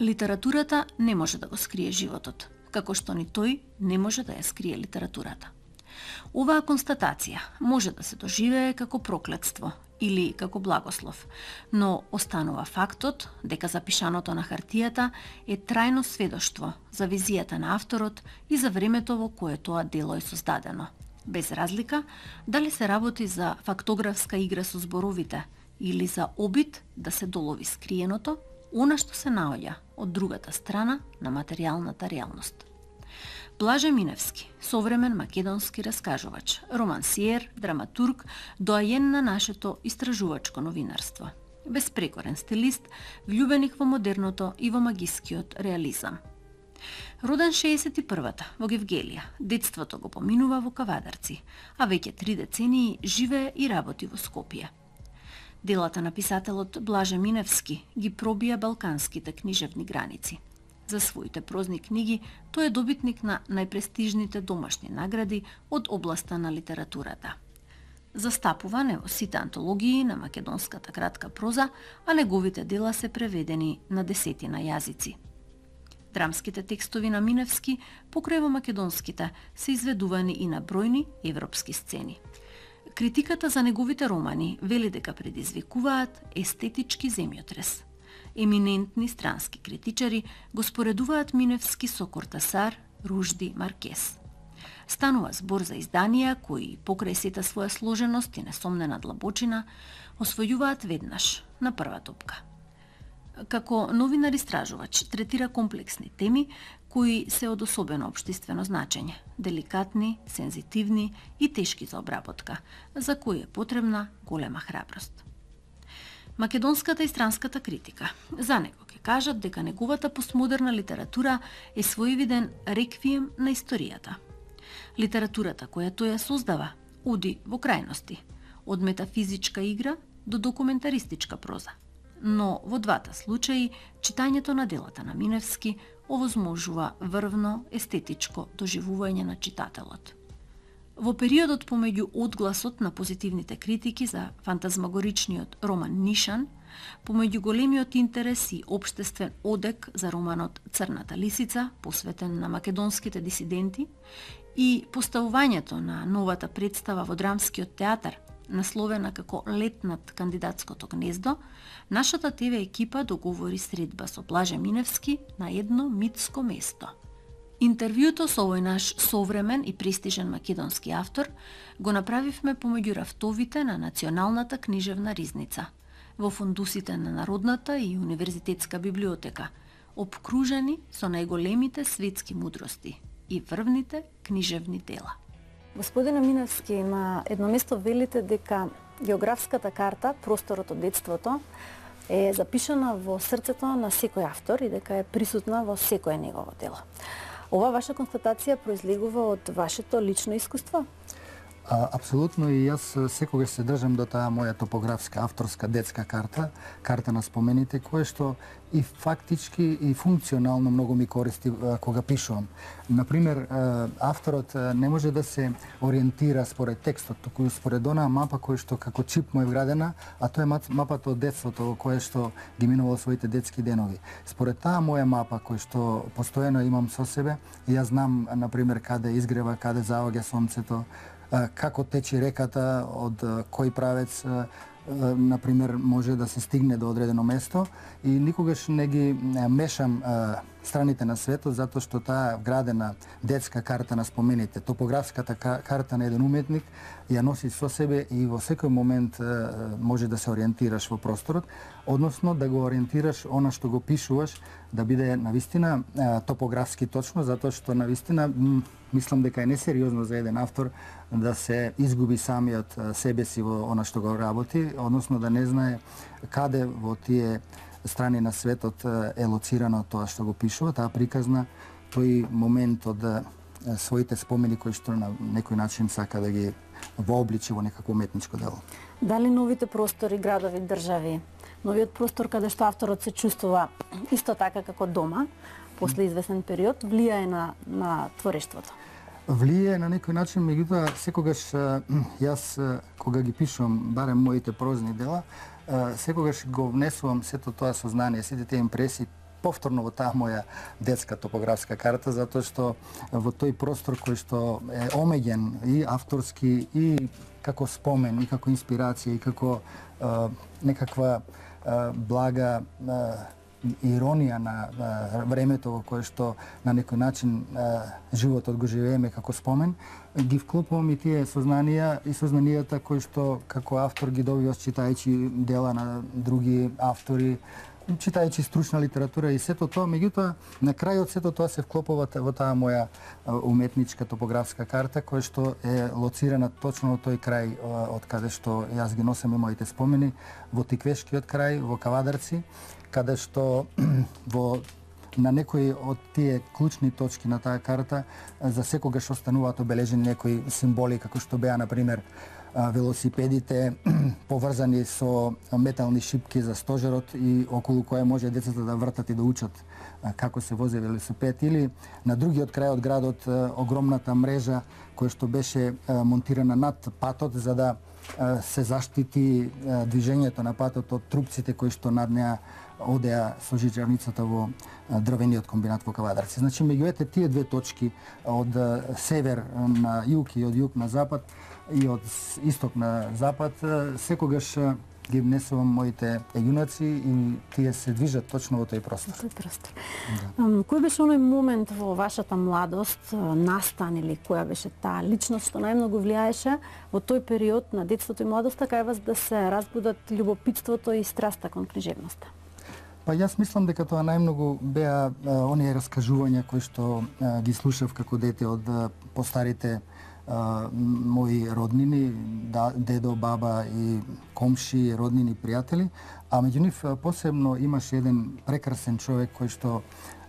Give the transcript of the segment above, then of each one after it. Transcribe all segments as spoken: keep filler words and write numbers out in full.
Литературата не може да го скрие животот, како што ни тој не може да ја скрие литературата. Оваа констатација може да се доживее како проклетство или како благослов, но останува фактот дека запишаното на хартијата е трајно сведоштво за визијата на авторот и за времето во кое тоа дело е создадено, без разлика дали се работи за фактографска игра со зборовите или за обид да се долови скриеното, она што се наоѓа од другата страна на материјалната реалност. Блаже Миневски, современ македонски раскажувач, романсиер, драматург, доајен на нашето истражувачко новинарство. Безпрекорен стилист, влюбеник во модерното и во магискиот реализам. Роден шеесет и првата во Гевгелија, детството го поминува во Кавадарци, а веќе три децении живее и работи во Скопје. Делата на писателот Блаже Миневски ги пробија балканските книжевни граници. За своите прозни книги тој е добитник на најпрестижните домашни награди од областа на литературата. Застапува не во сите антологии на македонската кратка проза, а неговите дела се преведени на десетина јазици. Драмските текстови на Миневски, покрај во македонските, се изведувани и на бројни европски сцени. Критиката за неговите романи вели дека предизвикуваат естетички земјотрес. Еминентни странски критичари го споредуваат Миневски со Кортасар, Ружди, Маркес. Станува збор за изданија кои, покрај сета своја сложеност и несомнена длабочина, освојуваат веднаш, на прва топка. Како новинар-истражувач третира комплексни теми кои се од особено општествено значење, деликатни, сензитивни и тешки за обработка, за кои е потребна голема храброст. Македонската и странската критика за него ќе кажат дека неговата постмодерна литература е своевиден реквием на историјата. Литературата која тој ја создава оди во крајности, од метафизичка игра до документаристичка проза. Но во двата случаи читањето на делата на Миневски овозможува врвно естетичко доживување на читателот. Во периодот помеѓу одгласот на позитивните критики за фантазмагоричниот роман Нишан, помеѓу големиот интерес и општествен одек за романот Црната лисица, посветен на македонските дисиденти, и поставувањето на новата представа во драмскиот театар, насловена како Лет над кандидатското гнездо, нашата ТВ екипа договори средба со Блаже Миневски на едно митско место. Интервјуто со овој наш современ и престижен македонски автор го направивме помеѓу рафтовите на Националната книжевна ризница, во фундусите на Народната и Универзитетска библиотека, обкружени со најголемите светски мудрости и врвните книжевни дела. Господине Миневски, на едно место велите дека географската карта, просторот од детството, е запишана во срцето на секој автор и дека е присутна во секое негово дело. Ова ваша констатација произлегува од вашето лично искуство? А, апсолутно, и јас секогаш се држам до таа моја топографска, авторска детска карта, карта на спомените, кое што и фактички и функционално многу ми користи а, кога пишувам. Например, а, авторот а, не може да се ориентира според текстот, туку според онаа мапа која што како чип му е вградена, а тоа е мапата од детството во кое што ги минувал своите детски денови. Според таа моја мапа која што постојано имам со себе, јас знам, например, каде изгрева, каде заоѓа сонцето, како тече реката, од кој правец, например, може да се стигне до одредено место, и никогаш не ги мешам страните на светот, затоа што таа вградена детска карта на спомените, топографската карта на еден уметник, ја носи со себе и во секој момент може да се ориентираш во просторот, односно да го ориентираш она што го пишуваш, да биде навистина топографски точно, затоа што навистина мислам дека е несериозно за еден автор да се изгуби самиот себе си во она што го работи, односно да не знае каде во тие страни на светот е лоцирано тоа што го пишува, таа приказна, тој момент од своите спомени кои што на некој начин сака да ги вообличи во некако уметничко дело. Дали новите простори, градови, држави, новиот простор каде што авторот се чувствува исто така како дома, после известен период, влијае на, на творештвото? Влијае на некој начин, меѓутоа секогаш јас кога ги пишувам, барем моите прозни дела, секогаш го внесувам сето тоа сознание, сите тие импресии повторно во таа моја детска топографска карта, затоа што во тој простор кој што е омеѓен и авторски и како спомен, и како инспирација, и како а, некаква а, блага а, иронија на а, времето во кое што на некој начин а, животот го живееме како спомен, ги вклопувам и тие сознанија и сознанијата кои што како автор ги добиваш читајќи дела на други автори, читајќи стручна литература и сето тоа, меѓутоа на крајот сето тоа се вклопува во таа моја уметничка топографска карта која што е лоцирана точно во тој крај од каде што јас ги носам и моите спомени, во Тиквешкиот крај, во Кавадарци, каде што во на некои од тие клучни точки на таа карта за секогаш остануваат обележени некои символи како што беа на пример велосипедите поврзани со метални шипки за стожерот и околу која може децата да вртат и да учат како се вози велосипед, или на другиот крај од градот огромната мрежа која што беше монтирана над патот за да се заштити движењето на патот од трупците кои што над неа одеа со жичарницата во дрвениот комбинат во Кавадарци. Значи, меѓу тие две точки, од север на југ и од југ на запад и од исток на запад, секогаш ги внесувам моите јунаци и тие се движат точно во тој простор. Тој простор. Да. Кој беше оној момент во вашата младост, настан или која беше таа личност што најмногу влијаеше во тој период на детството и младоста кај вас да се разбудат љубопитството и страста кон книжевноста? Па јас мислам дека тоа најмногу беа оние раскажувања кои што а, ги слушав како дете од а, постарите а, мои роднини, да, дедо, баба и комши, роднини, пријатели, а меѓу нив посебно имаше еден прекрасен човек кој што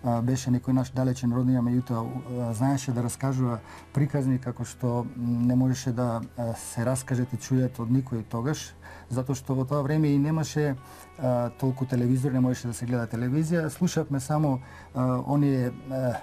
а, беше некој наш далечен роднина, меѓутоа знаеше да раскажува приказни како што не можеше да а, се раскажат и чујат од никој тогаш, затоа што во тоа време и немаше а, толку телевизор, не можеше да се гледа телевизија, слушавме само а, оние а,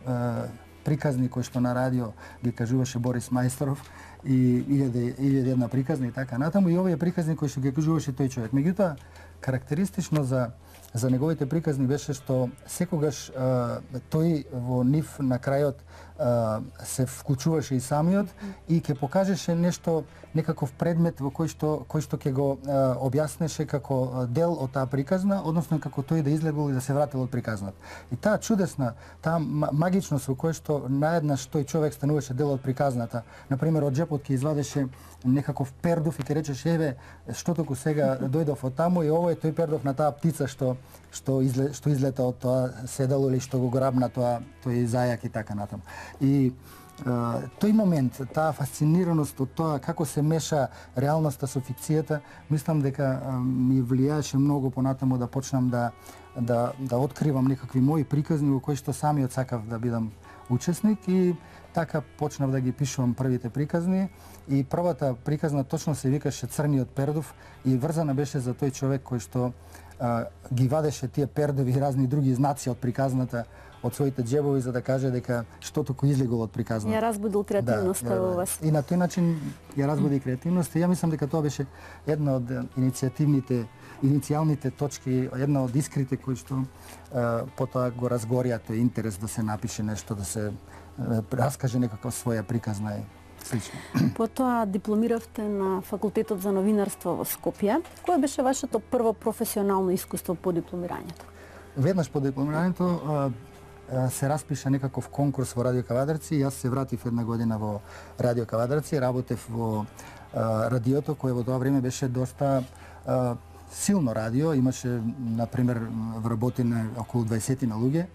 а, приказни кои што на радио ги кажуваше Борис Мајсторов и илјаде и една приказна и така натаму, и овие приказни кои што ги кажуваше тој човек. Меѓутоа, карактеристично за за неговите приказни беше што секогаш а, тој во нив на крајот а, се вклучуваше и самиот и ќе покажеше нешто, некаков предмет во кој што кој што ќе го а, објаснеше како дел од таа приказна, односно како тој да излегол и да се вратил од приказната. И таа чудесна, таа магичност во кој што наеднаш тој човек стануваше дел од приказната, на пример од джепот ќе извадеше некаков пердов и ќе речеше еве што току сега дојдов од таму и ово е тој пердов на таа птица што што изле, што излета од тоа седало или што го грабна тоа тој зајак и така натаму. И е, тој момент, таа фасцинираност од тоа како се меша реалноста со фикцијата, мислам дека е, ми влијаеше многу понатаму да почнам да да да откривам некакви мои приказни во кои што самиот сакав да бидам учесник и така почнав да ги пишувам првите приказни и првата приказна точно се викаше Црниот пердов и врзана беше за тој човек кој што а, ги вадеше тие пердови и разни други знаци од приказната од своите џебови за да каже дека што току излегол од приказната. Ја разбудил креативноста да, во вас. И на тој начин ја разбуди креативноста. Ја мислам дека тоа беше една од иницијативните иницијалните точки, една од искрите кои што а, потоа го разгорија тој интерес да се напише нешто, да се а, раскаже некаква своја приказна и слично. Потоа дипломиравте на Факултетот за новинарство во Скопје. Кое беше вашето прво професионално искуство по дипломирањето? Веднаш по дипломирањето а, а, се распиша некаков конкурс во Радио Кавадарци. Јас се вратив една година во Радио Кавадарци, работев во а, радиото кое во тоа време беше доста а, силно радио, имаше на пример вработени околу дваесет на луѓе.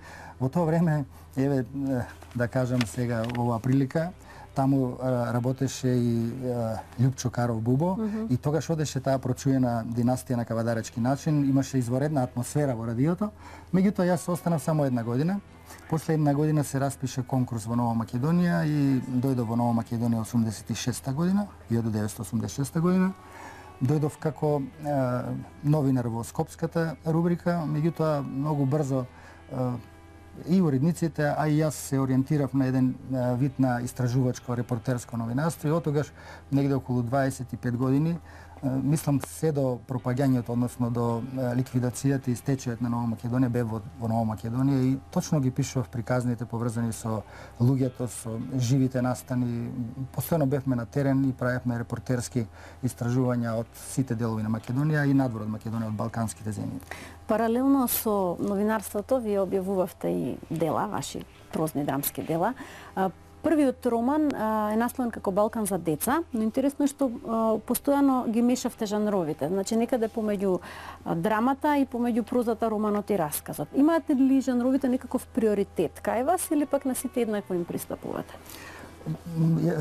Во тоа време, еве да кажам сега оваа прилика, таму а, работеше и а, Љупчо Каров Бубо mm -hmm. и тогаш одеше таа прочуена династија на кавадаречки начин, имаше изваредна атмосфера во радиото. Меѓутоа јас останав само една година. После една година се распише конкурс во Нова Македонија и дојдов во Нова Македонија осумдесет и шеста година, илјадум деветстотини осумдесет и шеста година. Дојдов како е, новинар во Скопската рубрика, меѓутоа многу брзо е, и уредниците, а и јас се ориентирав на еден е, вид на истражувачко репортерско новинарство и од тогаш негде околу дваесет и пет години мислам се до пропаѓањето, односно до ликвидацијата и стечајот на Нова Македонија бе во, во Нова Македонија и точно ги пишував приказните поврзани со луѓето, со живите настани. Постојано бевме на терен и правевме репортерски истражувања од сите делови на Македонија и надвор од Македонија, од балканските земји. Паралелно со новинарството вие објавувавте и дела, ваши прозни драмски дела. Првиот роман а, е насловен како Балкан за деца, но интересно е што а, постојано ги мешавте жанровите. Значи некаде помеѓу а, драмата и помеѓу прозата, романот и расказот. Имаате ли жанровите некаков приоритет кај вас или пак на сите еднакво им пристапувате?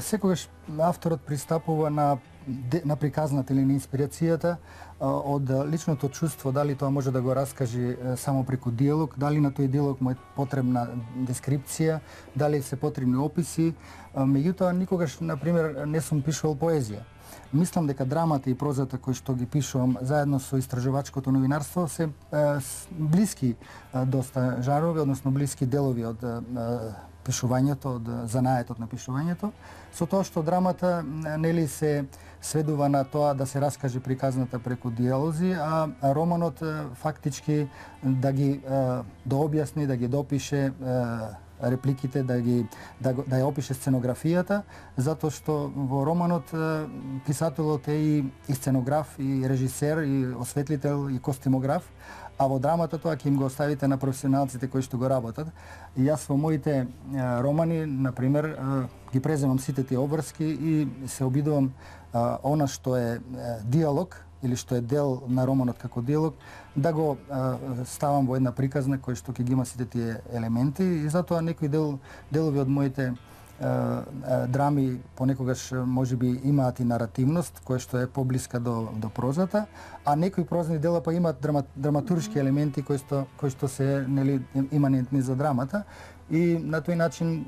Секогаш авторот пристапува на на приказната или на инспирацијата од личното чувство, дали тоа може да го раскаже само преку диалог, дали на тој диалог му е потребна дескрипција, дали се потребни описи. Меѓутоа, никогаш, на пример, не сум пишувал поезија. Мислам дека драмата и прозата кои што ги пишувам заедно со истражувачкото новинарство се е, блиски е, доста жарови, односно блиски делови од е, пишувањето, од занаетот на пишувањето, со тоа што драмата нели се сведува на тоа да се раскаже приказната преку диалози, а романот фактички да ги да објасни, да ги допише репликите, да ги да, да ја опише сценографијата, затоа што во романот писателот е и, и сценограф, и режисер, и осветлител, и костимограф, а во драмата тоа ќе им го оставите на професионалците кои што го работат. И јас во моите е, романи, на пример, е, ги преземам сите тие обврски и се обидувам е, она што е, е диалог или што е дел на романот како диалог, да го е, ставам во една приказна која што ќе ги има сите тие елементи и затоа некои дел, делови од моите драми понекогаш можеби имаат и наративност која што е поблиска до до прозата, а некои прозни дела па имаат драма, драматуршки елементи кои што кои што се нели иманентни за драмата и на тој начин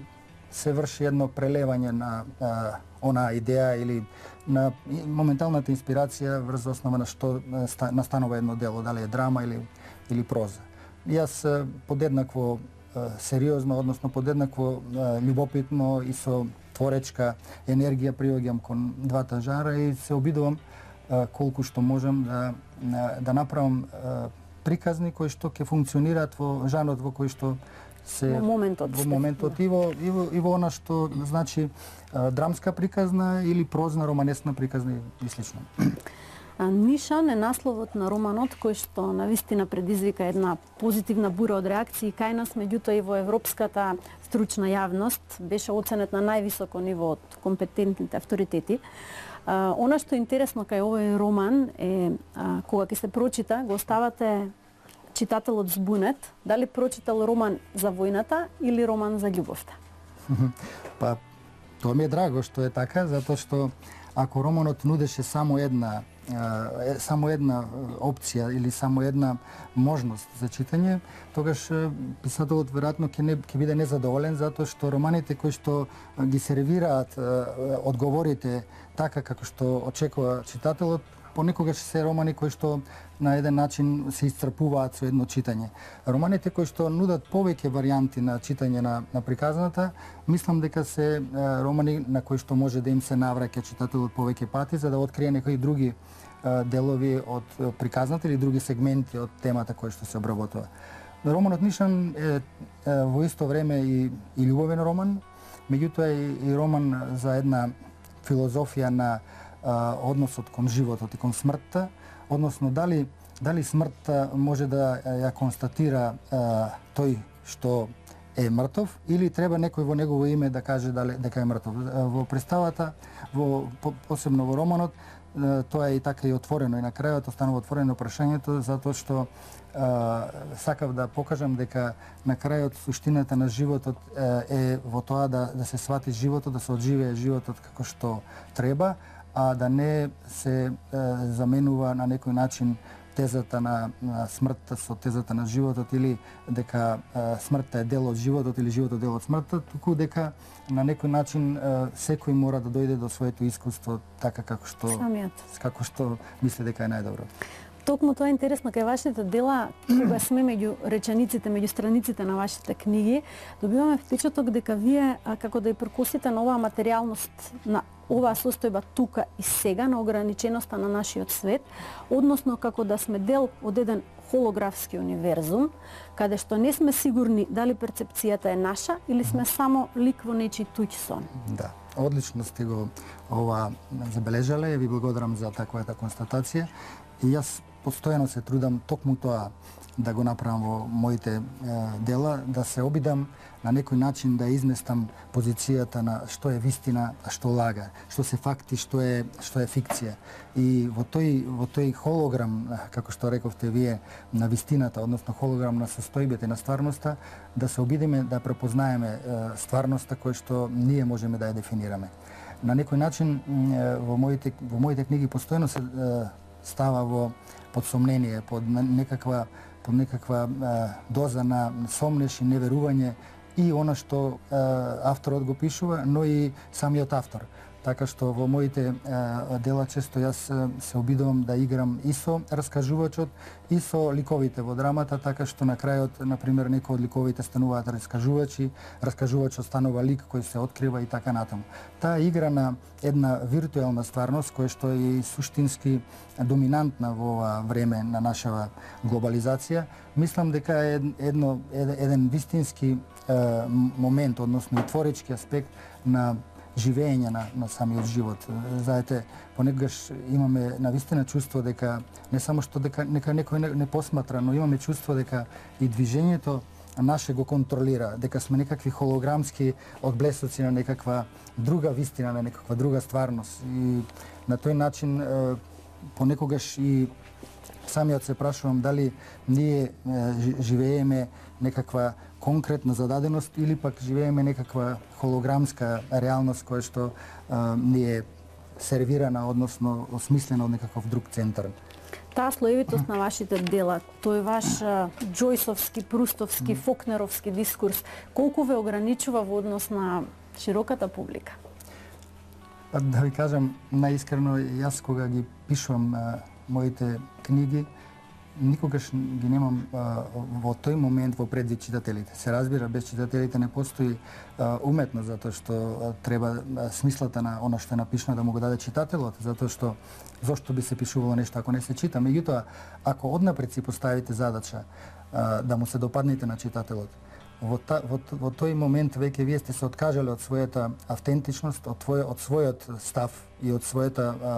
се врши едно прелевање на а, онаа идеја или на моменталната инспирација врз основа на што настанува едно дело, дали е драма или или проза. Јас подеднакво сериозно, односно подеднакво љубопитно и со творечка енергија приоѓам кон двата жара и се обидувам колку што можам да да направам приказни кои што ќе функционираат во жанрот во кој што се во моментот, во моментот и во и во, и во она што значи драмска приказна или прозна романесна приказна и слично. Нишан е насловот на романот кој што навистина предизвика една позитивна бура од реакции кај нас, меѓутоа и во европската стручна јавност беше оценет на највисоко ниво од компетентните авторитети. А, она што е интересно кај овој роман е а, кога ќе се прочита, го оставате читателот збунет, дали прочитал роман за војната или роман за љубовта? Па, тоа ми е драго што е така, затоа што ако романот нудеше само една само една опција или само една можност за читање, тогаш писателот веројатно ќе не ќе биде незадоволен затоа што романите кои што ги сервираат одговорите така како што очекува читателот, понекогаш се романи кои што на еден начин се исцрпуваат со едно читање. Романите кои што нудат повеќе варијанти на читање на, на приказната, мислам дека се романи на кои што може да им се навраќа читателот повеќе пати за да открие некои други делови од приказната или други сегменти од темата која што се обработува. Романот Нишан е, е во исто време и, и љубовен роман, меѓутоа и, и роман за една филозофија на а, односот кон животот и кон смртта, односно дали дали смртта може да ја констатира а, тој што е мртов или треба некој во негово име да каже дали дека е мртов. Во представата, во посебно во романот, тоа е и така и отворено и на крајот останува отворено прашањето затоа што а, сакав да покажам дека на крајот суштината на животот е во тоа да да се свати животот, да се одживее животот како што треба, а да не се а, заменува на некој начин тезата на, на смртта со тезата на животот или дека а, смртта е дел од животот или животот дел од смртта, туку дека на некој начин а, секој мора да дојде до своето искуство така како што Самиот. како што мисли дека е најдобро. Токму тоа е интересно кај вашите дела, кога сме меѓу речениците, меѓу страниците на вашите книги, добиваме впечаток дека вие а, како да ја прекусите на оваа материјалност на оваа состојба тука и сега на ограниченоста на нашиот свет, односно како да сме дел од еден холографски универзум, каде што не сме сигурни дали перцепцијата е наша или сме само лик во нечи туѓ сон. Да, одлично сте го ова забележале и ви благодарам за таквата констатација. И јас постојано се трудам токму тоа да го направам во моите е, дела, да се обидам на некој начин да изместам позицијата на што е вистина, а што лага, што се факти, што е што е фикција. И во тој во тој холограм, како што рековте вие, на вистината, односно холограм на состојбите на стварноста, да се обидиме да препознаеме е, стварноста која што ние можеме да ја дефинираме. На некој начин е, во моите во моите книги постојано се е, става во под сомнение, под некаква под некаква е, доза на сомнеш и неверување и она што е, авторот го пишува, но и самиот автор. Така што во моите е, дела често јас се обидувам да играм и со раскажувачот и со ликовите во драмата, така што на крајот, например, некои од ликовите стануваат раскажувачи, раскажувачот станува лик кој се открива и така натаму. Таа игра на една виртуелна стварност која што е и суштински доминантна во ова време на нашава глобализација, мислам дека е едно еден вистински е, момент, односно и творечки аспект на живење на, на самиот живот. Знаете, понекогаш имаме навистина чувство дека не само што дека нека некој не, не посматра, но имаме чувство дека и движењето наше го контролира, дека сме некакви холограмски одблесоци на некаква друга вистина, на некаква друга стварност. И на тој начин е, понекогаш и самиот се прашувам дали ние е, живееме некаква конкретна зададеност или пак живееме некаква холограмска реалност која што а, ни е сервирана, односно осмислена од некаков друг центар. Таа слоевитост на вашите дела, тој ваш а, Џојсовски, Прустовски, Фокнеровски дискурс, колку ве ограничува во однос на широката публика? Да ви кажам, наискрено, јас кога ги пишувам а, моите книги, никогаш ги немам а, во тој момент во предвид читателите. Се разбира, без читателите не постои а, уметност, затоа што а, треба а, смислата на она што е напишано да му го даде читателот, затоа што зошто би се пишувало нешто ако не се чита. Меѓутоа, ако однапред си поставите задача а, да му се допаднете на читателот, во, та, во, во тој момент веќе вие сте се откажале од својата автентичност, од, твој, од својот став и од својата а,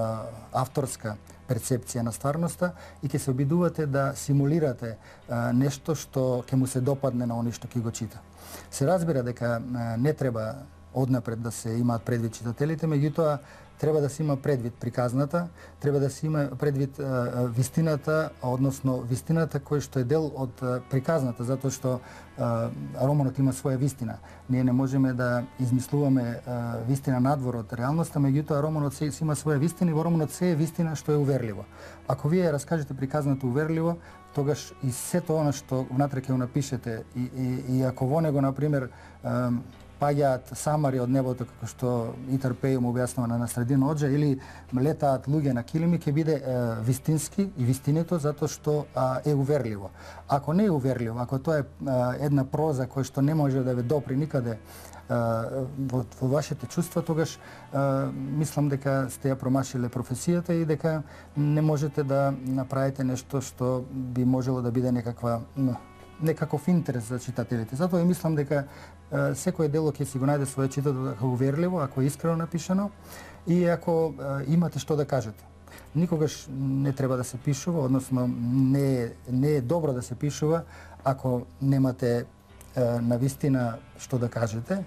авторска перцепција на стварноста и ќе се обидувате да симулирате а, нешто што ќе му се допадне на оној што ќе го чита. Се разбира дека а, не треба однапред да се имаат предвид читателите, меѓутоа треба да се има предвид приказната, треба да се има предвид а, вистината, односно вистината која што е дел од а, приказната, затоа што а, романот има своја вистина. Ние не можеме да измислуваме а, вистина надвор од реалноста, меѓутоа романот се, се има своја вистина и во романот се е вистина што е уверливо. Ако вие раскажете приказната уверливо, тогаш и сето она што внатре ќе го напишете и, и, и ако во него, например, а, паѓаат самари од небото, како што Итар Пејо му објаснува на Настрадин Оджа, или летаат луѓе на килими, ќе биде е, вистински и вистинето, затоа што а, е уверливо. Ако не е уверливо, ако тоа е а, една проза која што не може да ве допри никаде а, во, во вашите чувства, тогаш а, мислам дека сте ја промашиле професијата и дека не можете да направите нешто што би можело да биде некаква некаков интерес за читателите. Затоа и мислам дека е, секој дело ќе си го најде својот читател ако уверливо, ако е искрено напишано и ако е, имате што да кажете. Никогаш не треба да се пишува, односно не е, не е добро да се пишува ако немате е, навистина што да кажете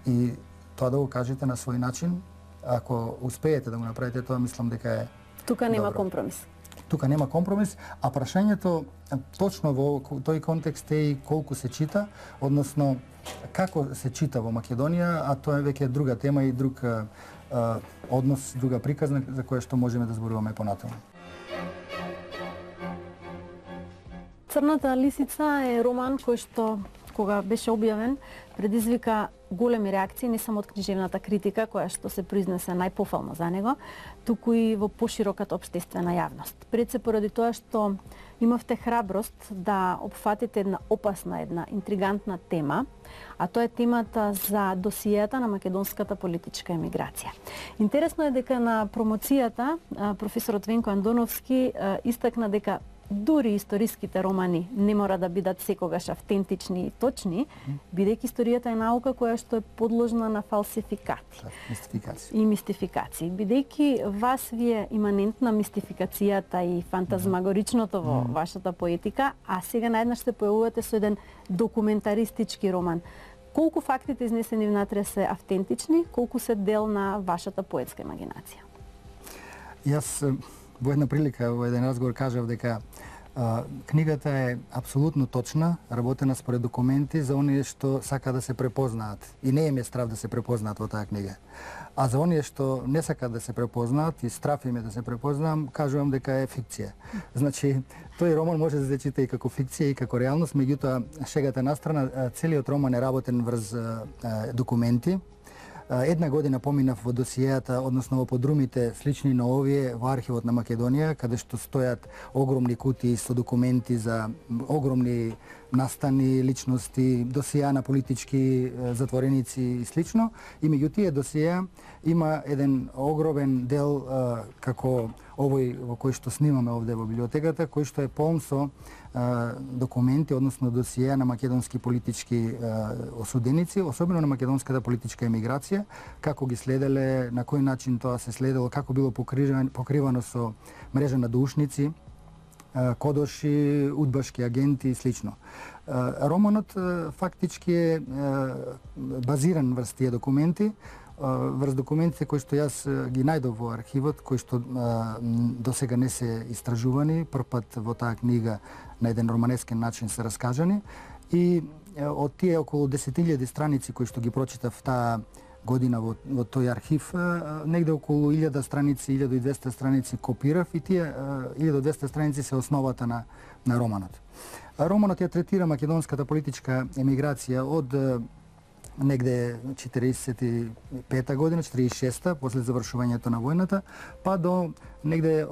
и тоа да го кажете на свој начин. Ако успеете да го направите тоа, мислам дека е Тука нема добро. компромис. Тука нема компромис, а прашањето точно во тој контекст е и колку се чита, односно како се чита во Македонија, а тоа е веќе друга тема и друг а, а, однос, друга приказна за која што можеме да зборуваме понатаму. Црната лисица е роман кој што кога беше објавен, предизвика големи реакции не само од книжевната критика, која што се произнесе најпофално за него, туку и во пошироката општествена јавност. Пред се поради тоа што имавте храброст да опфатите една опасна, една интригантна тема, а тоа е темата за досијата на македонската политичка емиграција. Интересно е дека на промоцијата професорот Венко Андоновски истакна дека дури историските романи не мора да бидат секогаш автентични и точни, бидејќи историјата е наука која што е подложна на фалсификати. Мистификација. И мистификации. Бидејќи вас ви е иманентна мистификацијата и фантазмагоричното во mm. вашата поетика, а сега наеднаш се појавувате со еден документаристички роман. Колку фактите изнесени внатре се автентични, колку се дел на вашата поетска имагинација? Јас во една прилика, во еден разговор кажав дека а, книгата е апсолутно точна, работена според документи за оние што сака да се препознаат. И не им е страв да се препознаат во таа книга. А за оние што не сакаат да се препознаат и страв им е да се препознаам, кажувам дека е фикција. Значи, тој роман може да се чита и како фикција и како реалност, меѓутоа шегата настрана, целиот роман е работен врз а, а, документи. Една година поминав во досијата, односно во подрумите слични на овие во архивот на Македонија, каде што стојат огромни кутии со документи за огромни настани, личности, досија на политички затвореници и слично. И меѓу тие досија има еден огромен дел а, како овој во кој што снимаме овде во библиотеката, кој што е полн со а, документи, односно досија на македонски политички а, осуденици, особено на македонската политичка емиграција, како ги следеле, на кој начин тоа се следело, како било покривано, покривано со мрежа на дуушници, кодоши, удбашки агенти и слично. Романот фактички е базиран врз тие документи, врз документите кои што јас ги најдов во архивот, кои што досега не се истражувани, првпат во таа книга на еден романескен начин се раскажани, и од тие околу десет илјади страници кои што ги прочитав таа година во, во тој архив, негде околу илјада страници, илјада и двесте страници копирав, и тие илјада и двесте страници се основата на, на романот. Романот ја третира македонската политичка емиграција од негде четириесет и пета година, четириесет и шеста, после завршувањето на војната, па до негде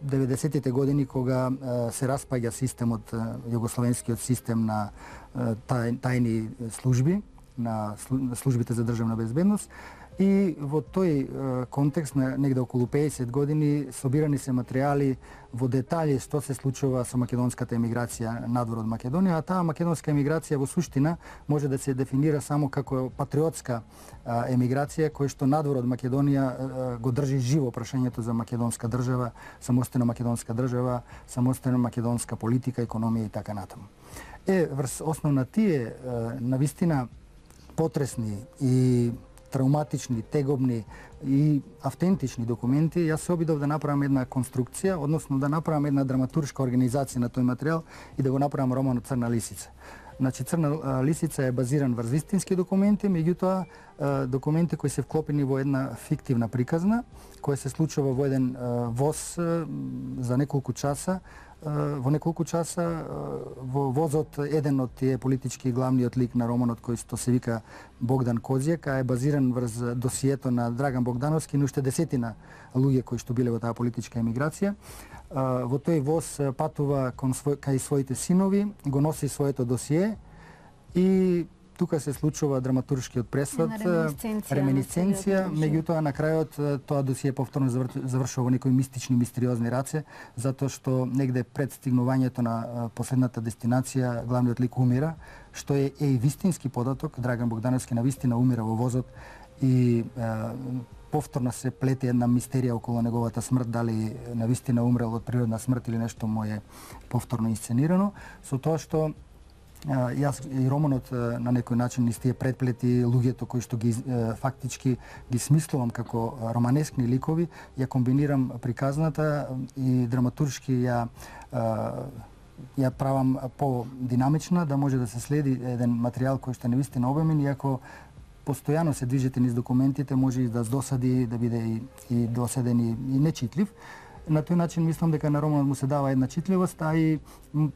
деветдесетите години, кога се распаѓа системот, југословенскиот систем на тајни служби, на службите за државна безбедност, и во тој контекст на негде околу педесет години собирани се материјали во детали што се случува со македонската емиграција надвор од Македонија, а таа македонска емиграција во суштина може да се дефинира само како патриотска емиграција која што надвор од Македонија го држи живо прашањето за македонска држава, самостојна македонска држава, самостојна македонска политика, економија и така натаму. Е, врз основ на тие навистина потресни и травматични, тегобни и автентични документи, јас се обидов да направам една конструкција, односно да направам една драматуршка организација на тој материјал и да го направам романот Црна лисица. Значи, Црна лисица е базиран врз вистински документи, меѓутоа документи кои се вклопени во една фиктивна приказна, која се случува во еден воз за неколку часа, во неколку часа во возот еден од тие политички главниот лик на романот кој што се вика Богдан Козјак, а е базиран врз досието на Драган Богдановски и уште десетина луѓе кои што биле во таа политичка емиграција. Во тој воз патува кон свој, кај своите синови, го носи своето досие и тука се случува драматуршкиот пресвод, реминисценција, меѓутоа на крајот тоа досие повторно завршува во некои мистични, мистериозни раце, затоа што негде пред стигнувањето на последната дестинација главниот лик умира, што е, е и вистински податок. Драган Богдановски навистина умира во возот и е, повторно се плете една мистерија околу неговата смрт, дали навистина умрел од природна смрт или нешто му е повторно инсценирано, со тоа што јас и романот на некој начин низ тие предплети, луѓето кои што ги фактички ги смислувам како романескни ликови, ја комбинирам приказната и драматуршки ја ја правам по-динамична, да може да се следи еден материјал кој што е навистина обемен, иако постојано се движите низ документите, може и да досади, да биде и, и досаден и, и нечитлив. на тој начин мислам дека на романот му се дава една читливост, а и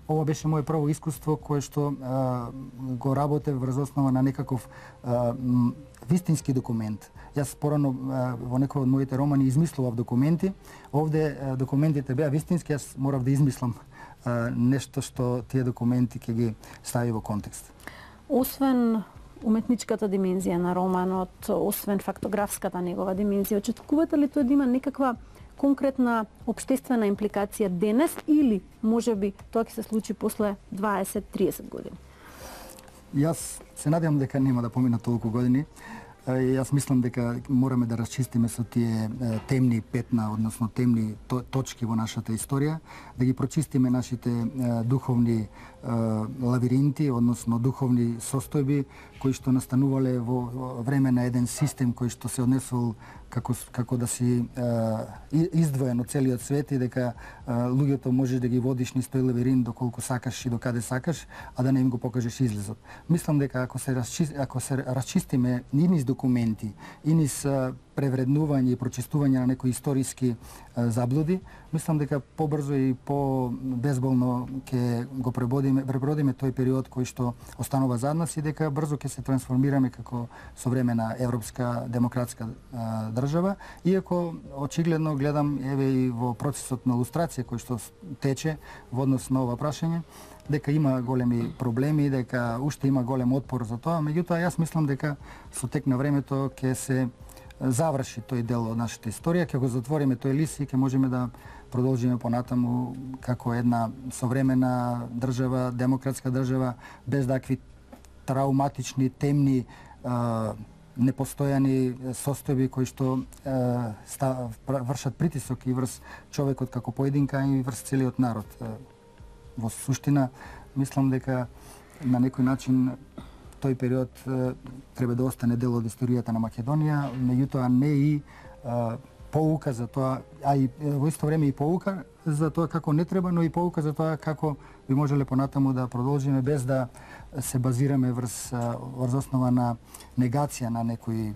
ова беше моје прво искуство кое што а, го работев врз основа на некаков а, вистински документ. Јас порано во некој од моите романи измислував документи, овде а, документите беа вистински, јас морав да измислам а, нешто што тие документи ќе ги стави во контекст. Освен уметничката димензија на романот, освен фактографската негова димензија, очекувате ли тоа да има некаква конкретна општествена импликација денес или можеби тоа ќе се случи после дваесет до триесет години? Јас се надевам дека нема да поминат толку години. Јас мислам дека мораме да расчистиме со тие темни петна, односно темни точки во нашата историја, да ги прочистиме нашите духовни лавиринти, односно духовни состојби кои што настанувале во време на еден систем кој што се однесувал како како да си издвоен од целиот свет и дека луѓето можеш да ги водиш низ тој лавиринт доколку сакаш и до каде сакаш, а да не им го покажеш излезот. Мислам дека ако се расчисти, ако се расчистиме и низ документи, и низ превреднување и прочистување на некои историски заблуди, мислам дека побрзо и по-безболно ќе го пребодиме, пребродиме тој период кој што останува зад нас и дека брзо ќе се трансформираме како современа европска демократска а, држава, иако очигледно гледам еве и во процесот на лустрација кој што тече во однос на ова прашање, дека има големи проблеми, дека уште има голем отпор за тоа, меѓутоа јас мислам дека со тек на времето ќе се заврши тој дел од нашата историја, ќе го затвориме тој лист и ќе можеме да продолжиме понатаму како една современа држава, демократска држава, без такви трауматични, темни, непостојани состојби кои што вршат притисок и врз човекот како поединка и врз целиот народ. Во суштина, мислам дека на некој начин тој период треба да остане дел од историјата на Македонија, меѓутоа не и а, поука за тоа, а и во исто време и поука за тоа како не треба, но и поука за тоа како би можеле понатаму да продолжиме без да се базираме врз, врз основа на негација на некои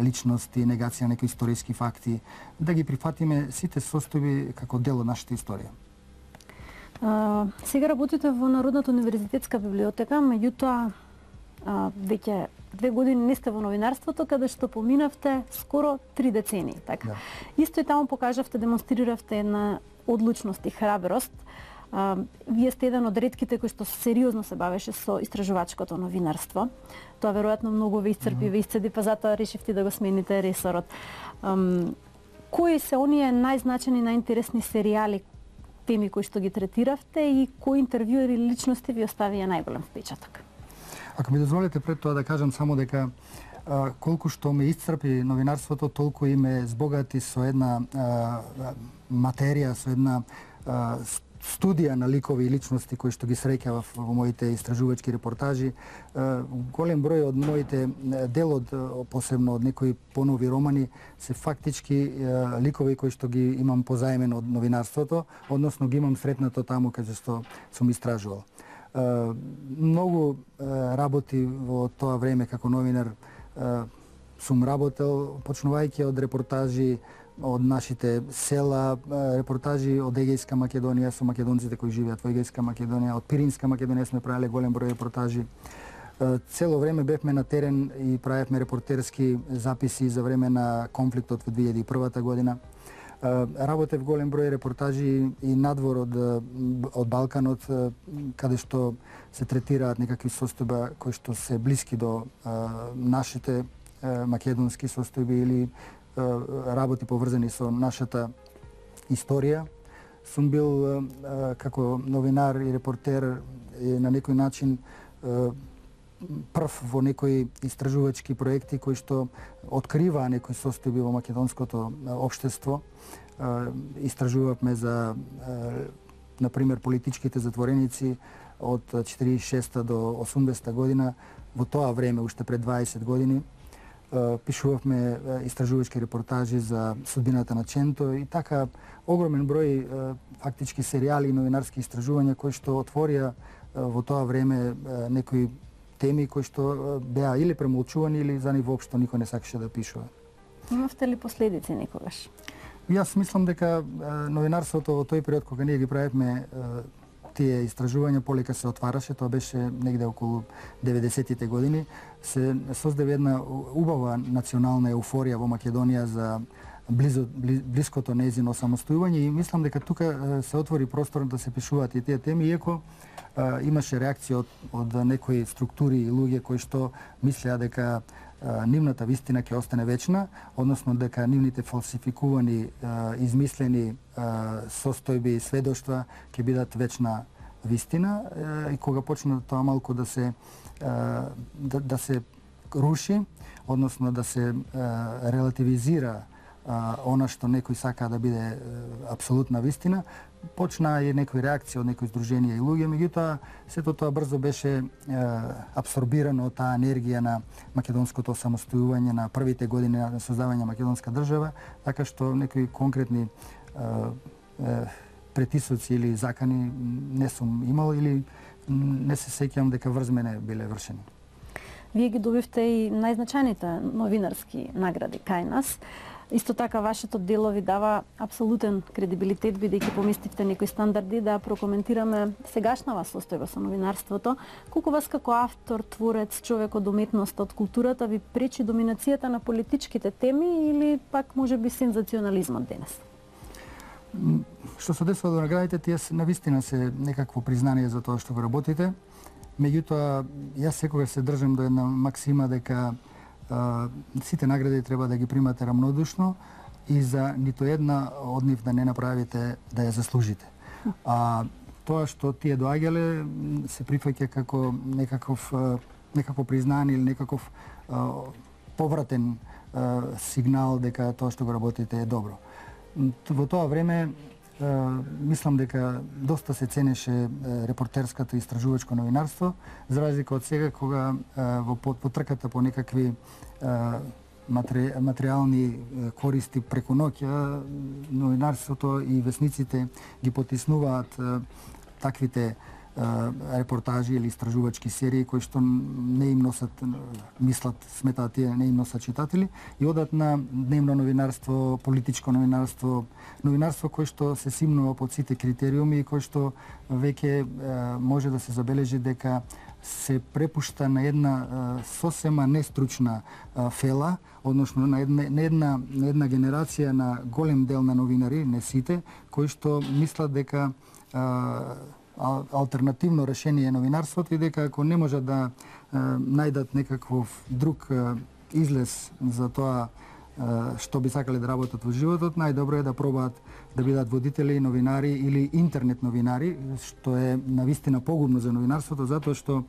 личности, негација на некои историски факти, да ги прифатиме сите состојби како дел од нашата историја. А, сега работите во Народната универзитетска библиотека, меѓутоа а, веќе две години не сте во новинарството, каде што поминавте скоро три децении, така? Да. Исто и таму покажавте, демонстриравте една одлучност и храброст. А, вие сте еден од ретките кои што сериозно се бавеше со истражувачкото новинарство. Тоа веројатно многу ве исцрпи, mm-hmm. ве исцеди, па затоа решивте да го смените ресорот. Ам, кои се оние најзначени, најинтересни серијали, теми кои што ги третиравте и кои интервју или личности ви оставија најголем впечаток? Ако ми дозволите пред тоа да кажам само дека а, колку што ме исцрпи новинарството, толку и ме збогати со една а, материја, со една а, студија на ликови и личности кои што ги среќавав во моите истражувачки репортажи. А, голем број од моите дел од посебно од некои понови романи се фактички а, ликови кои што ги имам позаемено од новинарството, односно ги имам сретнато таму каде што сум истражувал. Uh, многу uh, работи во тоа време како новинар uh, сум работел, почнувајќи од репортажи од нашите села, uh, репортажи од Егејска Македонија со македонците кои живеат во Егејска Македонија, од Пиринска Македонија сме правеле голем број репортажи. Uh, цело време бевме на терен и правевме репортерски записи за време на конфликтот во две илјади и прва година. Работев голем број репортажи и надвор од, од Балканот, каде што се третираат некакви состојба кои што се блиски до а, нашите а, македонски состојби или а, работи поврзани со нашата историја. Сум бил а, како новинар и репортер и на некој начин а, прв во некои истражувачки проекти кои што откриваа некои состојби во македонското општество. Истражувавме за, на пример, политичките затвореници од четиридесет и шеста до осумдесета година. Во тоа време, уште пред дваесет години, пишувавме истражувачки репортажи за судбината на Ченто и така огромен број фактички серијали и новинарски истражувања кои што отворија во тоа време некои теми кои што беа или премолчувани или за нив воопшто никој не сакаше да пишува. Имавте ли последици некогаш? Јас мислам дека новинарството во тој период кога ние ги правевме тие истражувања полека се отвараше, тоа беше негде околу деветдесетите години, се создаде една убава национална еуфорија во Македонија за близо, блиското нејзино самостојување и мислам дека тука се отвори простор да се пишуваат и тие теми, иако а, имаше реакција од, од некои структури и луѓе кои што мислеа дека а, нивната вистина ќе остане вечна, односно дека нивните фалсификувани, а, измислени а, состојби и сведоштва ќе бидат вечна вистина а, и кога почна тоа малку да се а, да, да се руши, односно да се а, релативизира Uh, она што некој сака да биде uh, апсолутна вистина, почна и некои реакции од некои здруженија и луѓе, меѓутоа сето тоа брзо беше uh, абсорбирано од таа енергија на македонското самостојување на првите години на создавање на македонска држава, така што некои конкретни uh, uh, претисоци или закани не сум имал или не се сеќавам дека врз мене биле вршени. Вие ги добивте и најзначајните новинарски награди кај нас. Исто така, вашето дело ви дава апсолутен кредибилитет, бидејќи поместивте некои стандарди, да прокоментираме сегашнава состојба со новинарството. Колку вас како автор, творец, човек од уметноста, од културата ви пречи доминацијата на политичките теми или пак може би сензационализмот денес? Што се десува до наградите, тие навистина се некакво признание за тоа што го работите. Меѓутоа, јас секогаш се држам до една максима дека Uh, сите награди треба да ги примате рамнодушно и за нито една од нив да не направите да ја заслужите. А тоа што тие доаѓале се прифаќа како некаков некакво признание или некаков uh, повратен uh, сигнал дека тоа што го работите е добро. Во тоа време Uh, мислам дека доста се ценеше uh, репортерското и истражувачко новинарство, за разлика од сега кога uh, во потрката по некакви uh, матери, материјални uh, користи преку ноќ, новинарството и весниците ги потиснуваат uh, таквите репортажи или истражувачки серии кои што не им носат, мислат, сметаат тие не им носат читатели и одат на дневно новинарство, политичко новинарство, новинарство кој што се симнува под сите критериуми и кој што веќе може да се забележи дека се препушта на една сосема нестручна фела, односно на една, на една, на една генерација на голем дел на новинари, не сите, кои што мислат дека алтернативно решение е новинарството и дека ако не можат да е, најдат некаков друг е, излез за тоа е, што би сакале да работат во животот, најдобро е да пробаат да бидат водители, новинари или интернет новинари, што е навистина погубно за новинарството, затоа што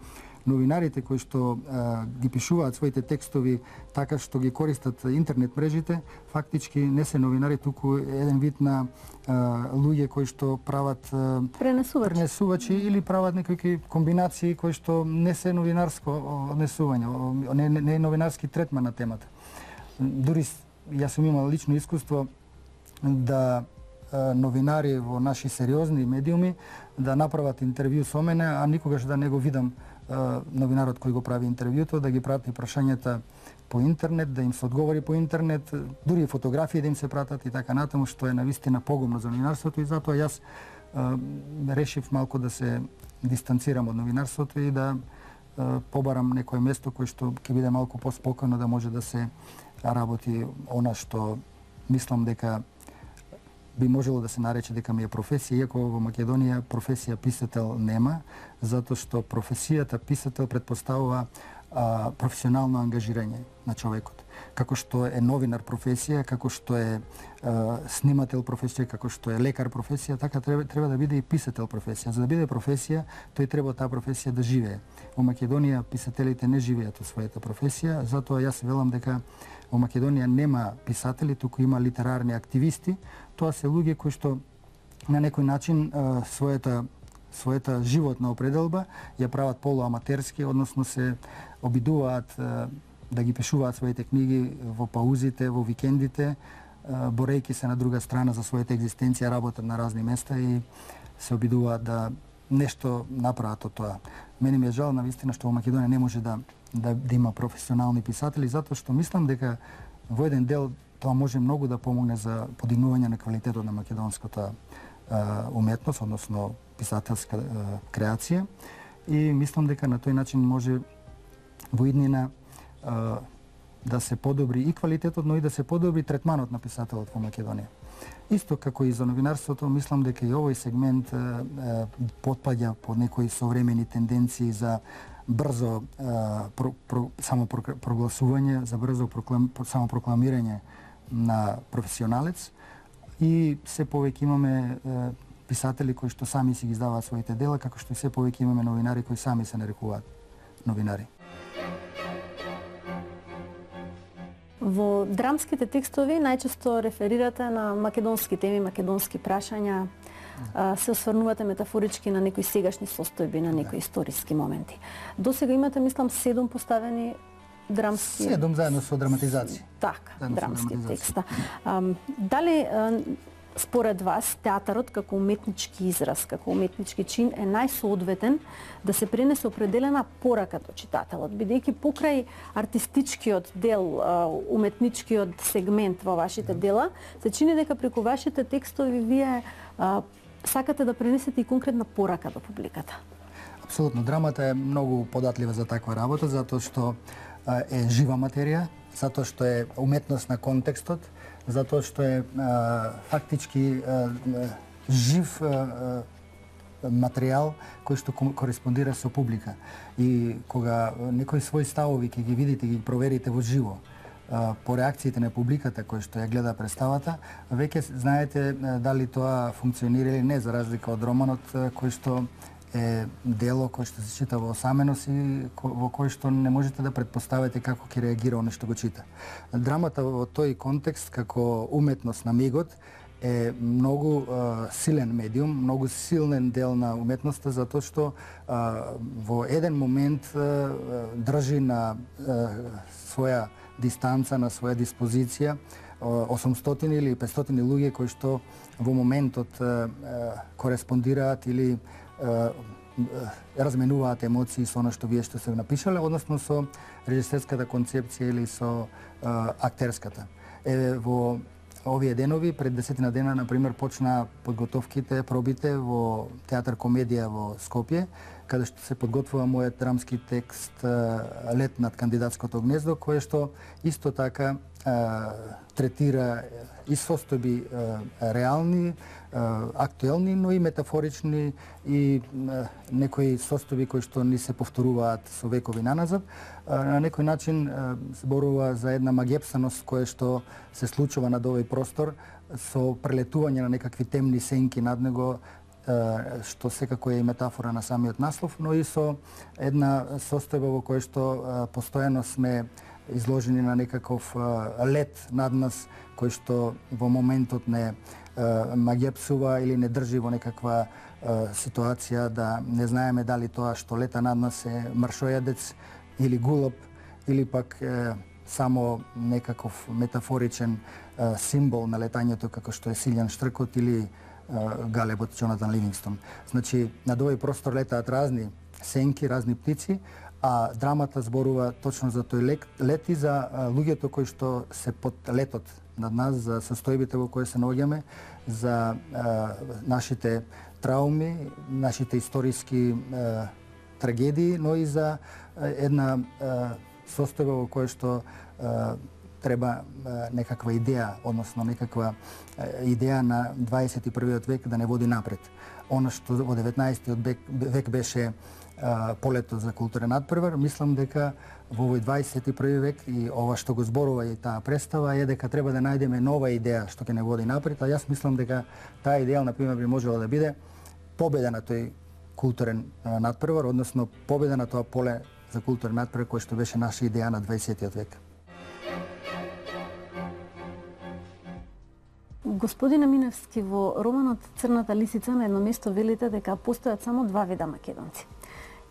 новинарите кои што а, ги пишуваат своите текстови така што ги користат интернет мрежите, фактички не се новинари, туку еден вид на а, луѓе кои што прават а, пренесувачи. пренесувачи или прават некои комбинации кои што не се новинарско однесување, не, не, не е новинарски третман на темата. Дури јас сум имал лично искуство да а, новинари во наши сериозни медиуми да направат интервју со мене, а никогаш да не го видам новинарот кој го прави интервјуто, да ги прати прашањата по интернет, да им се одговори по интернет, дури и фотографии да им се пратат и така натаму, што е навистина погубно за новинарството и затоа јас а, решив малку да се дистанцирам од новинарството и да а, побарам некое место кој што ќе биде малку поспокојно да може да се работи она што мислам дека би можело да се нарече дека ми е професија, иако во Македонија професија писател нема, затоа што професијата писател предпоставува а, професионално ангажирање на човекот. Како што е новинар професија, како што е а, снимател професија, како што е лекар професија, така треба, треба да биде и писател професија. За да биде професија, тој треба таа професија да живее. Во Македонија писателите не живеат од својата професија, затоа јас велам дека во Македонија нема писатели, туку има литерарни активисти. Тоа се луѓе кои што на некој начин а, својата својата животна определба ја прават полуаматерски, односно се обидуваат а, да ги пишуваат своите книги во паузите, во викендите, а, борејќи се на друга страна за својата екзистенција, работат на разни места и се обидуваат да нешто направат од тоа. Мене ми е жал навистина што во Македонија не може да да, да има професионални писатели, затоа што мислам дека во еден дел тоа може многу да помогне за подигнување на квалитетот на македонската уметност, односно писателска креација. И мислам дека на тој начин може во иднина да се подобри и квалитетот, но и да се подобри третманот на писателот во Македонија. Исто како и за новинарството, мислам дека и овој сегмент потпаѓа под некои современи тенденции за брзо про, про, самопрогласување, за брзо проклам, самопрокламирање на професионалец, и се повеќе имаме писатели кои што сами си ги издаваат своите дела, како што и се повеќе имаме новинари кои сами се нарекуваат новинари. Во драмските текстови најчесто реферирате на македонски теми, македонски прашања, се осврнувате метафорички на некои сегашни состојби, на некои историски моменти. До сега имате, мислам, седум поставени драмски... Седум заедно со драматизација. Така, драмски текста. Дали според вас театарот како уметнички израз, како уметнички чин е најсоодветен да се пренесе определена порака до читателот, бидејќи покрај артистичкиот дел, уметничкиот сегмент во вашите дела, се чини дека преку вашите текстови вие сакате да пренесете и конкретна порака до публиката? Апсолутно. Драмата е многу податлива за таква работа, затоа што е жива материја, затоа што е уметност на контекстот, затоа што е а, фактички а, жив а, материјал кој што кореспондира со публика. И кога некои своји ставови ќе ги видите, ги проверите во живо, а, по реакциите на публиката кој што ја гледа представата, веќе знаете дали тоа функционира или не, за разлика од романот кој што е дело кој што се чита во осаменост и во кој што не можете да предпоставите како ќе реагира оној што го чита. Драмата во тој контекст како уметност на мигот е многу а, силен медиум, многу силен дел на уметноста, затоа што а, во еден момент а, држи на а, своја дистанца, на своја диспозиција осумстотини или петстотини луѓе кои што во моментот а, а, кореспондираат или разменуваат емоции со оно што вие што се напишале, односно со режисерската концепција или со а, актерската. Е, во овие денови, пред десетина дена, например, почна подготовките, пробите во театар комедија во Скопје, каде што се подготвува мојот драмски текст Лет над кандидатското гнездо, кое што исто така а, третира и состојби а, реални, актуелни, но и метафорични и некои состојби кои што ни се повторуваат со векови наназад. На некој начин зборува за една магепсаност која што се случува над овој простор со прелетување на некакви темни сенки над него, што секако е и метафора на самиот наслов, но и со една состојба во која што постојано сме изложени на некаков лед над нас, кој што во моментот не магепсува или не држи во некаква е, ситуација да не знаеме дали тоа што лета над нас е маршојадец или гулоб, или пак е, само некаков метафоричен е, символ на летањето како што е Силјан Штркот или е, галебот Џонатан Ливингстон. Значи, над овој простор летаат разни сенки, разни птици, а драмата зборува точно за тој лет, лет и за а, луѓето кои што се под летот над нас, за состојбите во кои се наоѓаме, за а, нашите трауми, нашите историски а, трагедии, но и за а, една а, состојба во која што а, треба а, некаква идеја, односно некаква а, идеја на дваесет и првиот век да не води напред. Она што во деветнаесеттиот век, век беше а, полето за културен надпревар, мислам дека во овој дваесет и први век и ова што го зборува и таа представа е дека треба да најдеме нова идеја што ќе не води напред, а јас мислам дека таа идеја, например, би можела да биде победа на тој културен а, надпревар, односно победа на тоа поле за културен надпревар кој што беше наша идеја на дваесеттиот век. Господине Миневски, во романот Црната лисица на едно место велите дека постојат само два вида македонци.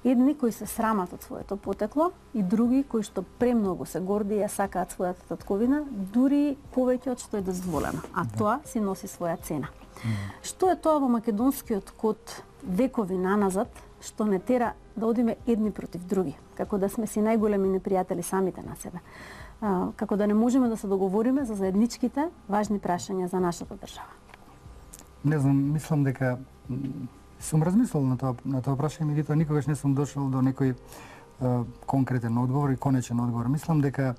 Едни кои се срамат од своето потекло и други кои што премногу се горди и ја сакаат својата татковина, дури повеќе од што е дозволено, а да. Тоа си носи своја цена. Mm. Што е тоа во македонскиот код векови наназад што не тера да одиме едни против други? како да сме си најголеми непријатели самите на себе. А, како да не можеме да се договориме за заедничките важни прашања за нашата држава. Не знам, мислам дека сум размислил на тоа на тоа прашање, меѓутоа никогаш не сум дошол до некој а, конкретен одговор и конечен одговор. Мислам дека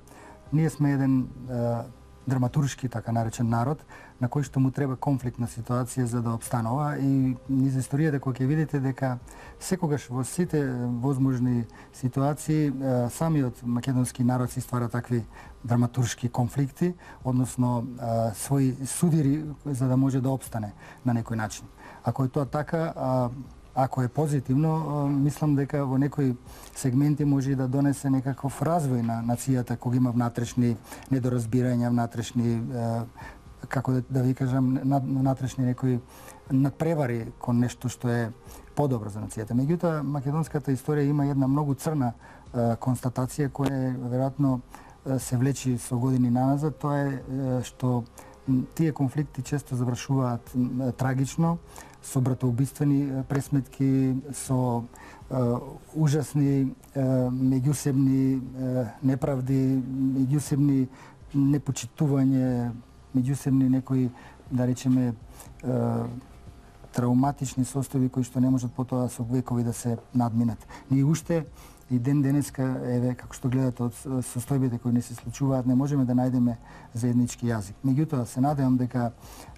ние сме еден а, драматуршки, така наречен народ, на кој што му треба конфликтна ситуација за да обстанува, и низ историјата кој ќе видите дека секогаш во сите возможни ситуации самиот македонски народ си ствара такви драматуршки конфликти, односно своји судири за да може да обстане на некој начин. Ако е тоа така, ако е позитивно, мислам дека во некои сегменти може и да донесе некаков развој на нацијата кога има внатрешни недоразбирања, внатрешни, како да, да ви кажам, внатрешни некои надпревари кон нешто што е подобро за нацијата. Меѓутоа, македонската историја има една многу црна констатација која веројатно се влечи со години наназад. Тоа е што тие конфликти често завршуваат трагично, со братоубиствени пресметки, со е, ужасни е, меѓусебни е, неправди, меѓусебни непочитување, меѓусебни некои, да речеме, е, трауматични состојби кои што не можат потоа со векови да се надминат. Ние уште и ден денеска, еве, како што гледате од состојбите кои не се случуваат, не можеме да најдеме заеднички јазик. Меѓутоа, се надевам дека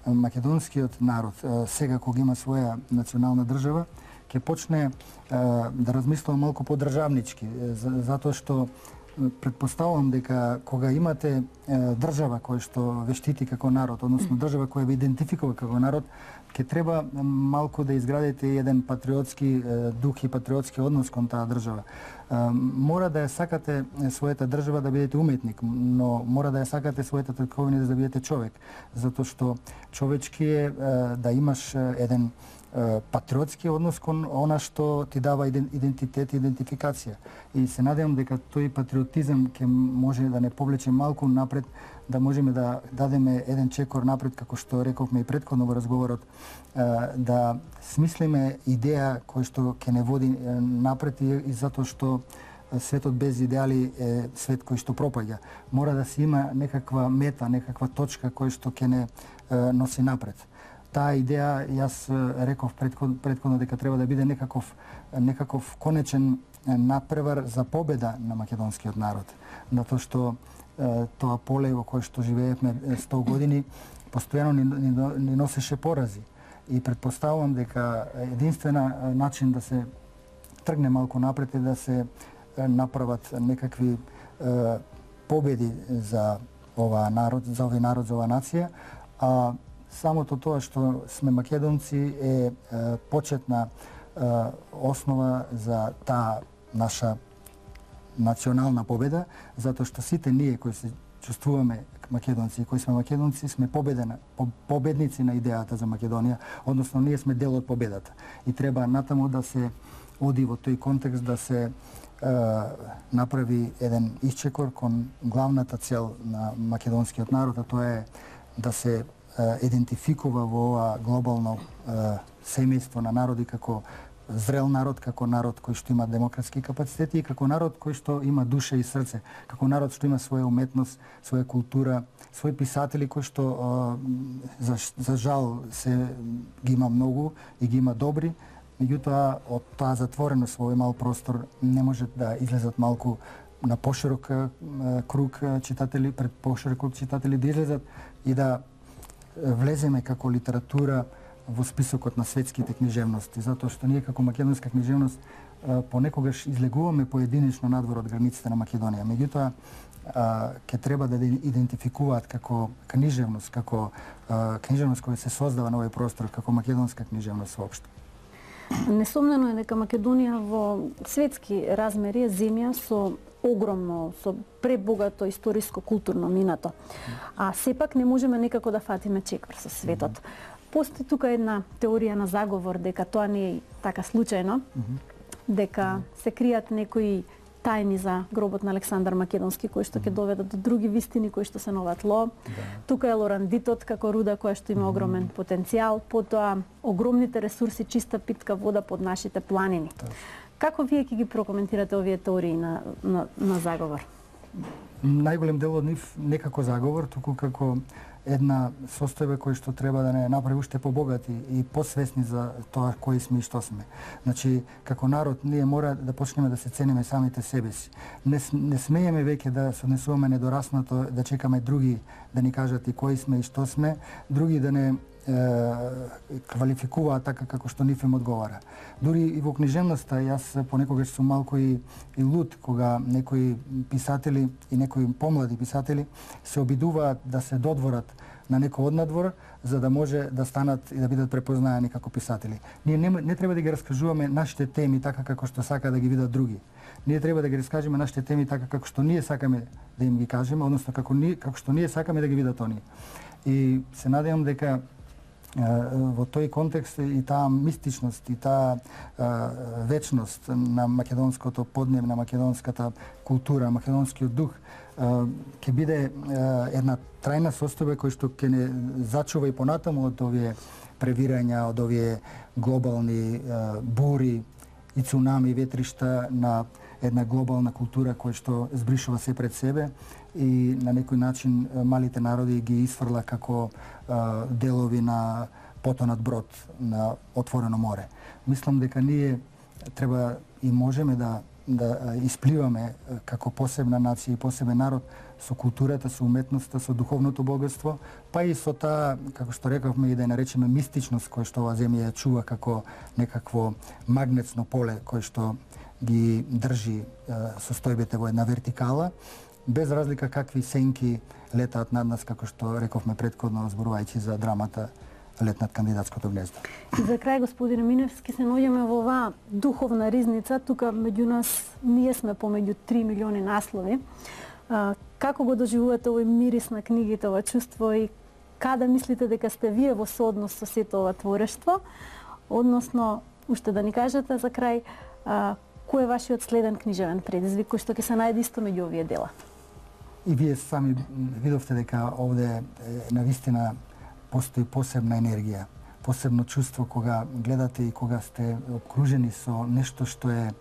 македонскиот народ, сега кога има своја национална држава, ќе почне да размислува малку подржавнички, затоа што предпоставувам дека кога имате држава која што ве штити како народ, односно држава која ве идентификува како народ, ќе треба малку да изградите еден патриотски дух и патриотски однос кон таа држава. Мора да ја сакате својата држава да бидете уметник, но мора да ја сакате својата татковина да бидете човек, затоа што човечки е да имаш еден патриотски однос кон она што ти дава идентитет и идентификација. И се надевам дека тој патриотизам ќе може да не повлече малку напред, да можеме да дадеме еден чекор напред, како што рековме и претходно во разговорот, да смислиме идеја која што ќе не води напред, и затоа што светот без идеали е свет кој што пропаѓа. Мора да се има некаква мета, некаква точка која што ќе не носи напред. Таа идеја, јас реков претходно дека треба да биде некаков некаков конечен надпревар за победа на македонскиот народ. Затоа што тоа поле во кое што живеевме сто години постојано ни, ни, ни носеше порази. И предпоставувам дека единствена начин да се тргне малку напред е да се направат некакви е, победи за оваа народ, за овој народ, за оваа нација, а самото тоа што сме македонци е, е почетна е, основа за таа наша национална победа, затоа што сите ние кои се чувствуваме македонци и кои сме македонци сме победена, победници на идејата за Македонија, односно ние сме дел од победата. И треба натаму да се оди во тој контекст, да се е, направи еден исчекор кон главната цел на македонскиот народ, а тоа е да се идентификува во ова глобално е, семејство на народи како зрел народ, како народ кој што има демократски капацитети и како народ кој што има душа и срце, како народ што има своја уметност, своја култура, своји писатели кои што е, за, за жал се ги има многу и ги има добри, меѓутоа од тоа затвореност во овој мал простор не може да излезат малку на поширок е, круг читатели, пред поширок круг читатели да излезат и да влеземе како литература во списокот на светските книжевности, затоа што ние како македонска книжевност понекогаш излегуваме поединечно надвор од границите на Македонија. Меѓутоа, ќе треба да идентификуваат како книжевност, како книжевност која се создава на овој простор, како македонска книжевност воопшто. Несомнено е дека Македонија во светски размери е земја со огромно, со пребогато историско-културно минато. А сепак не можеме некако да фатиме чекор со светот. Постои тука една теорија на заговор дека тоа не е така случајно, дека се кријат некои тајни за гробот на Александар Македонски, кои што ќе доведат до други вистини кои што се новат ло. Тука е лорандитот како руда која што има огромен потенцијал, потоа огромните ресурси чиста питка вода под нашите планини. Како вие ќе ги прокоментирате овие теории на, на, на заговор? Најголем дел од нив не како заговор, туку како една состојба која што треба да не направи уште побогати и посвесни за тоа кои сме и што сме. Значи, како народ, ние мора да почнеме да се цениме самите себе си. Не, не смееме веќе да се однесуваме недораснато, да чекаме други да ни кажат и кои сме и што сме, други да не квалификуваат така како што нив им одговара. Дури и во книжевноста, јас понекогаш сум малку и, и луд кога некои писатели и некои помлади писатели се обидуваат да се додворат на некој однадвор за да може да станат и да бидат препознаени како писатели. Ние не, не треба да ги раскажуваме нашите теми така како што сака да ги видат други. Ние треба да ги раскажеме нашите теми така како што ние сакаме да им ги кажеме, односно како ние како што ние сакаме да ги видат оние. И се надевам дека во тој контекст и таа мистичност и таа вечност на македонското поднеб, на македонската култура, македонскиот дух ќе биде една трајна состојба која што ќе не зачува и понатаму од овие превирања, од овие глобални бури и цунами, ветришта на една глобална култура која што збришува се пред себе и на некој начин малите народи ги исфрла како а, делови на потонат брод на отворено море. Мислам дека ние треба и можеме да да испливаме како посебна нација и посебен народ со културата, со уметноста, со духовното богатство, па и со таа, како што рековме, и да ја наречеме мистичност која што оваа земја ја чува како некакво магнетно поле кој што ги држи состојбите во една вертикала, без разлика какви сенки летаат над нас, како што рековме претходно, зборувајќи за драмата Лет над кандидатското гнездо. И за крај, господин Миневски, се наоѓаме во оваа духовна ризница. Тука меѓу нас ние сме помеѓу три милиони наслови. А, како го доживувате овој мирис на книгите, ова чувство и каде мислите дека сте вие во сооднос со сето ова творештво? Односно, уште да ни кажете за крај, а, кој е вашиот следен книжевен предизвик кој што ќе се најде исто меѓу овие дела? И вие сами видовте дека овде навистина постои посебна енергија, посебно чувство кога гледате и кога сте обкружени со нешто што е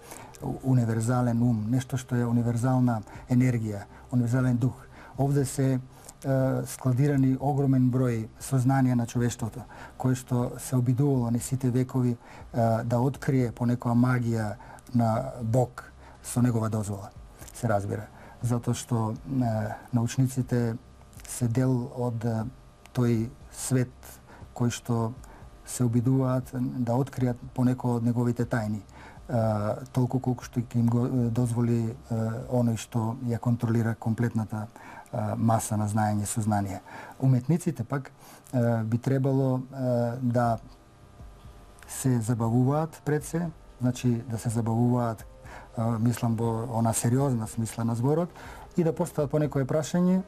универзален ум, нешто што е универзална енергија, универзален дух. Овде се е, складирани огромен број сознанија на човештвото, кое што се обидувало на сите векови е, да открие по некоја магија на Бог со негова дозвола, се разбира. Затоа што е, научниците се дел од е, тој свет кој што се обидуваат да откријат понекој од неговите тајни, е, толку колку што ќе им го дозволи е, оној што ја контролира комплетната е, маса на знаење, сознание. Уметниците пак е, би требало е, да се забавуваат пред се, значи да се забавуваат, е, мислам во она сериозна смисла на зборот, и да постават по некое прашање,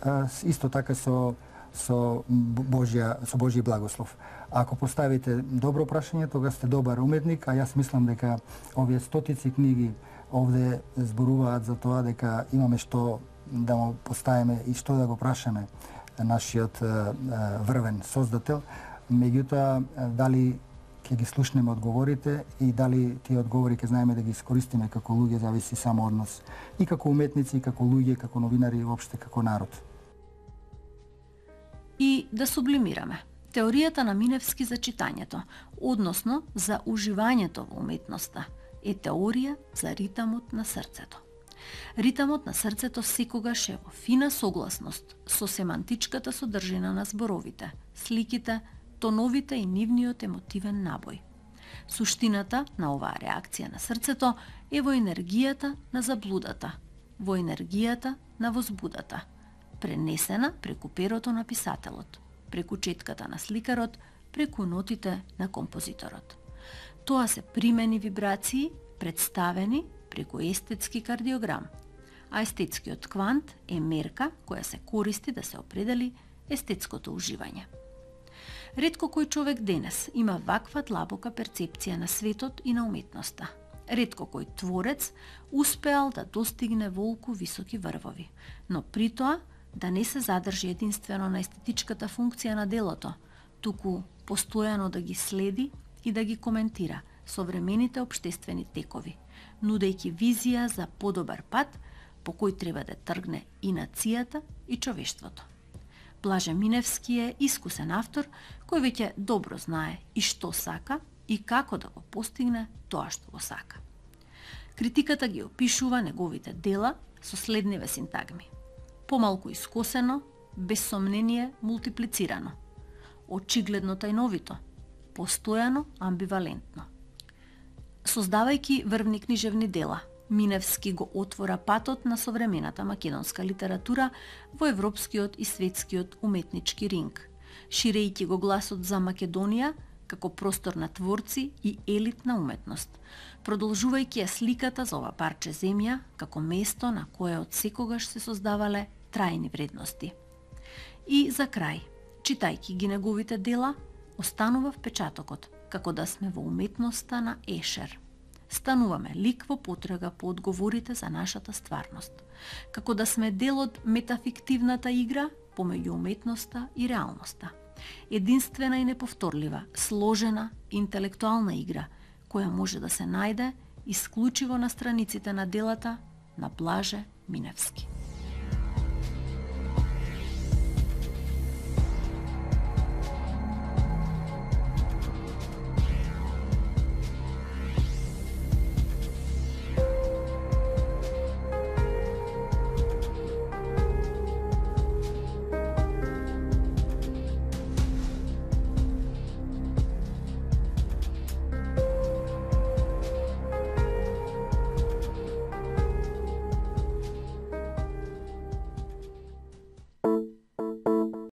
е, исто така со со Божја, со Божји благослов. Ако поставите добро прашање, тога сте добар уметник, а јас мислам дека овие стотици книги овде зборуваат за тоа дека имаме што да му поставиме и што да го прашаме нашиот врвен создател. Меѓутоа, дали ќе ги слушнеме одговорите и дали тие одговори ќе знаеме да ги искористиме како луѓе, зависи само од нас. И како уметници, и како луѓе, како новинари, и воопште како народ. И да сублимираме. Теоријата на Миневски за читањето, односно за уживањето во уметноста, е теорија за ритамот на срцето. Ритамот на срцето секогаш е во фина согласност со семантичката содржина на зборовите, сликите, тоновите и нивниот емотивен набој. Суштината на оваа реакција на срцето е во енергијата на заблудата, во енергијата на возбудата, пренесена преку перото на писателот, преку четката на сликарот, преку нотите на композиторот. Тоа се примени вибрации, представени преку естетски кардиограм, а естетскиот квант е мерка која се користи да се определи естетското уживање. Ретко кој човек денес има ваква длабока перцепција на светот и на уметноста. Ретко кој творец успеал да достигне волку високи врвови, но при тоа да не се задржи единствено на естетичката функција на делото, туку постојано да ги следи и да ги коментира современите општествени текови, нудејќи визија за подобар пат по кој треба да тргне и нацијата и човештвото. Блаже Миневски е искусен автор кој веќе добро знае и што сака и како да го постигне тоа што го сака. Критиката ги опишува неговите дела со следниве синтагми: помалку искосено, без сомнение мултиплицирано, очигледно тајновито, постојано амбивалентно. Создавајќи врвни книжевни дела, Миневски го отвора патот на современата македонска литература во европскиот и светскиот уметнички ринг, ширејќи го гласот за Македонија како простор на творци и елитна уметност, продолжувајќи ја сликата за ова парче земја како место на кое од секогаш се создавале трајни вредности. И за крај, читајќи ги неговите дела, останува впечатокот како да сме во уметноста на Ешер. Стануваме лик во потрага по одговорите за нашата стварност, како да сме дел од метафиктивната игра помеѓу уметноста и реалноста. Единствена и неповторлива, сложена, интелектуална игра, која може да се најде исклучиво на страниците на делата на Блаже Миневски.